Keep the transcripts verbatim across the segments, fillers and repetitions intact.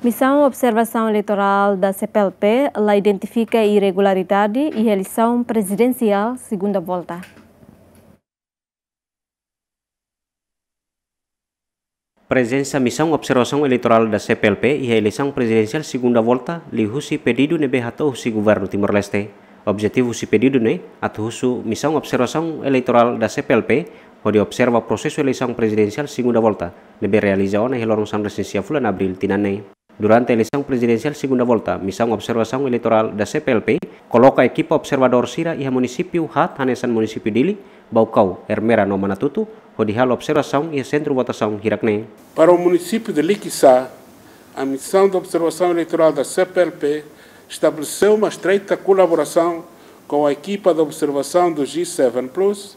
Misaun Observasaun Eleitorál da C P L P la identifika irregularidade iha eleisaun prezidensiál segunda volta. Prezensa Misaun Observasaun Eleitorál da C P L P iha eleisaun prezidensiál segunda volta liuhusi pedidu ne'ebé hato'o husi Governu Timor-Leste. Objetivu husi pedidu ne'e atu husu Misaun Observasaun Eleitorál da C P L P hodi observa prosesu eleisaun prezidensiál segunda volta ne'ebé realiza ona iha loron sanulu-resin-sia fulan Abríl tinan ne'e. Durante eleisaun prezidensiál segunda volta, Misaun Observasaun Eleitorál da C P L P koloka ekipa observadór sira iha munisípiu haat hanesan munisípiu Dili, Baucau, Ermera no Manatuto, hodi halo observasaun iha sentru votasaun hirak ne'e. Para o município de Liquiçá, a Missão de Observação Eleitoral da C P L P estabeleceu uma estreita colaboração com a equipa de observação do G sete Plus,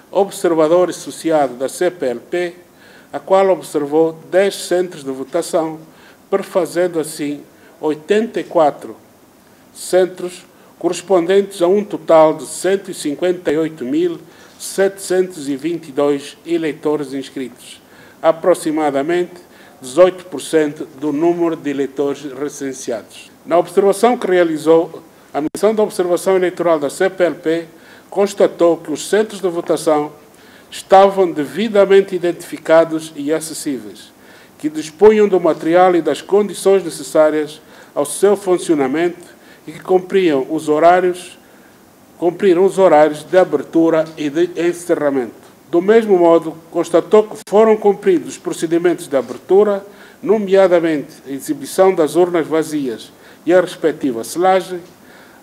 observador associado da C P L P, a qual observou dez centros de votação, perfazendo assim oitenta e quatro centros, correspondentes a um total de cento e cinquenta e oito mil setecentos e vinte e dois eleitores inscritos, aproximadamente dezoito por cento do número de eleitores recenseados. Na observação que realizou, a Missão de Observação Eleitoral da C P L P constatou que os centros de votação estavam devidamente identificados e acessíveis, que dispunham do material e das condições necessárias ao seu funcionamento e que cumpriam os horários, cumpriram os horários de abertura e de encerramento. Do mesmo modo, constatou que foram cumpridos os procedimentos de abertura, nomeadamente a exibição das urnas vazias e a respectiva selagem,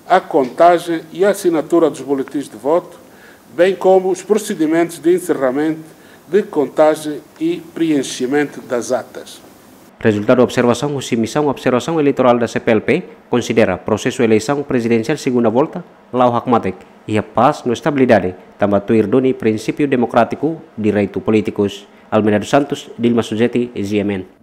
a contagem e a assinatura dos boletins de voto, bem como os procedimentos de encerramento, de contagem e preenchimento das atas. Rezultadu observasaun husi Misaun Observasaun Eleitorál da C P L P konsidera prosesu eleisaun prezidensiál segunda volta la'o hakmatek, iha pás no estabilidade, tanba tuir duni prinsípiu demokrátiku, direitu polítikus. Almeida dos Santos, Dilma Suzeti, G M N.